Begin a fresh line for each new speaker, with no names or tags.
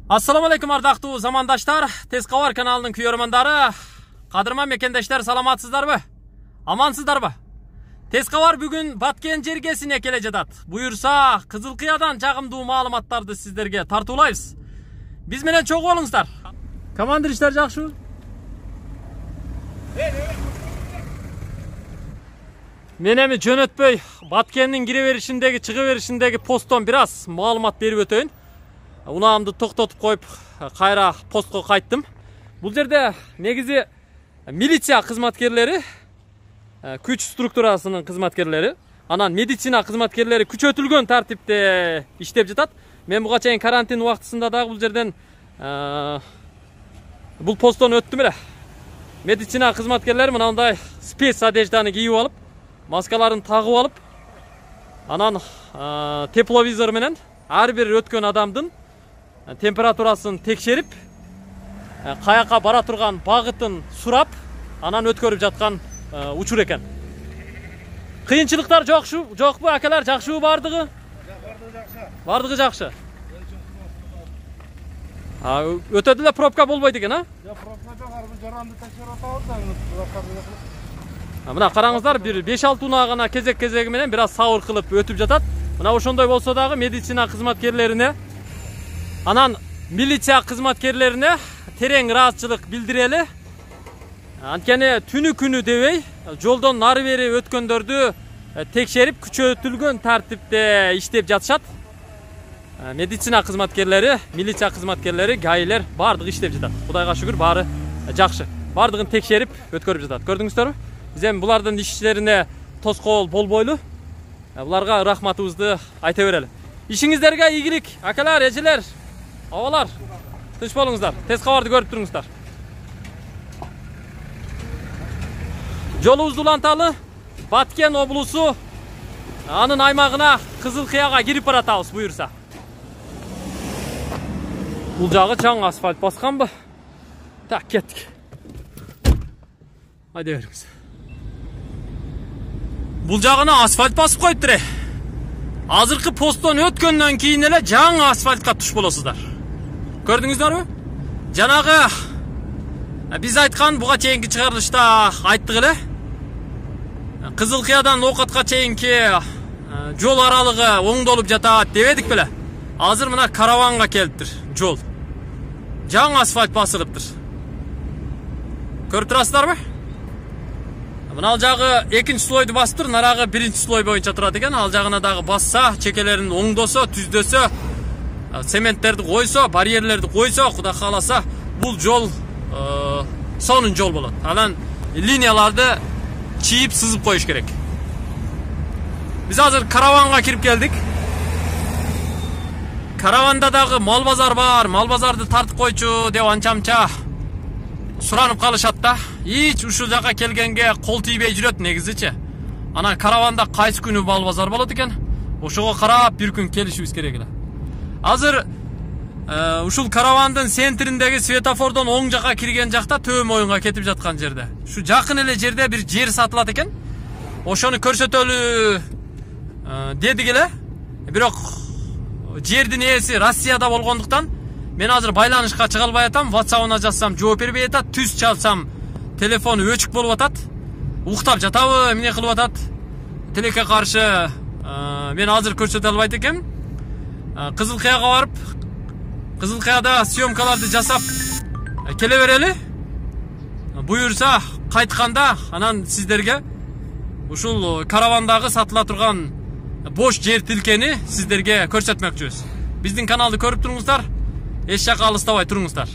Assalamu alaikum ардактуу замандаштар, Тез кабар каналынын күйөрмандары, кадырман мекендештер, саламатсыздарбы? Амансыздарбы? Тез кабар бүгүн Баткен жергесине келе жатат. Буюрса, Кызылкыядан жагымдуу маалыматтарды сиздерге тартуулайбыз. Биз менен чогуу болуңуздар. Командир иштер жакшыбы? Мен эми жөнөтпөй Баткендин кире беришиндеги, чыга беришиндеги посттон бир аз маалымат берип өтөйүн. Унаамды токтотуп коюп, кайра постко кайттым. Бул жерде негизи милиция кызматкерлери, күч структурасынын кызматкерлери, анан медицина кызматкерлери күчөтүлгөн тартипте иштеп жатат. Мен буга чейин карантин убактысында дагы бул жерден бул посттон өттүм эле. Медицина кызматкерлери мындай спец одежданы кийип алып, маскаларын тагып алып, анан тепловизор менен ар бир өткөн адамдын температурасын текшерип, каяка бара турган багытын сурап, анан өткөрүп жаткан учур экен. Кыйынчылыктар жокпу акалар, жакшыбы бардыгы? Бардыгы жакшы. Өтөдү эле пробка болбойт экен, а?
Жок, пробка жок, жаранды текшерип атабыз.
Мына караңыздар, бир 5-6 унаа гана кезек-кезеги менен бир аз сабыр кылып өтүп жатат. Мына ошондой болсо дагы медицина кызматкерлерине, анан милиция кызматкерлерине терең ыраазычылык билдирели. Анткени түнү күнү дебей, жолдон нары бери өткөндөрдү текшерип, күчөтүлгөн тартипте иштеп жатышат. Медицина кызматкерлери, милиция кызматкерлери, гаилер бардыгы иштеп жатат. Кудайга шүгүр, баары жакшы. Бардыгын текшерип, өткөрүп жатат. Көрдүңүздөрбү? Биз эми булардын иштерине тоскоол болбойлу. Буларга рахматыбызды айта берели. Ишиңиздерге ийгилик, акалар, эжелер, абалар. Тынч болуңуздар. Тез кабарды көрүп туруңуздар. Жолубузду уланталы. Баткен облусу, анын аймагына Кызылкыяга кирип баратабыз буюрса. Бул жагы чаң асфальт басканбы? Так, кеттик. Айда бериңиз. Бул жагына асфальт басып коюптур. Азыркы посттон өткөндөн кийин эле жаңы асфальтка туш болосуздар. Көрдүңүздөрбү? Жанагы биз айткан буга чейинки чыгарылышта айттык эле. Кызылкыядан Окатка чейинки жол аралыгы оңдолуп жатат дебедик беле? Азыр мына караванга келиптир жол. Жаңы асфальт басылыптыр. Көрүп турасыздарбы? Мына ал жагы экинчи слойду басыптыр, нарагы биринчи слой боюнча турат экен. Ал жагына дагы басса, чекелерин оңдосо, түздөсө, цементтерди койсо, барьерлерди койсо, Кудай кааласа, бул жол сонун жол болот. Анан линияларды чийип сызып коюш керек. Биз азыр караванга кирип келдик. Караванда дагы мал базар бар, мал базарды тартып койчу деп анча-мынча суранып калышат да. Hiç ушул жака келгенге кол тийбей жүрөт негизичи. Анан караванда кайсы күнү мал базар болот экен? Ошого карап бир күн келишибиз керек эле. Азыр ушул каравандын центриндеги светофордон оң жака кирген жакта Төө моюнга кетип жаткан жерде. Ушу жакын эле жерде бир жер сатылат экен. Ошону көрсөтөлү дедик эле. Бирок жердин ээси Россияда болгондуктан мен азыр байланышка чыга албай атам. WhatsApp-ына жазсам жооп бербей атат, түз чалсам телефону өчүк болуп атат. Уктап жатабы, эмне кылып атат? Тилекке каршы мен азыр көрсөтө албайт экенмин. Кызылкыяга барып, Кызылкыяда съемкаларды жасап келе берели. Буюрса, кайтканда анан сиздерге ушул каравандагы сатыла турган бош жер тилкени сиздерге көрсөтмөкчүбүз. Биздин каналды көрүп туруңуздар. Эч жака алыстабай туруңуздар.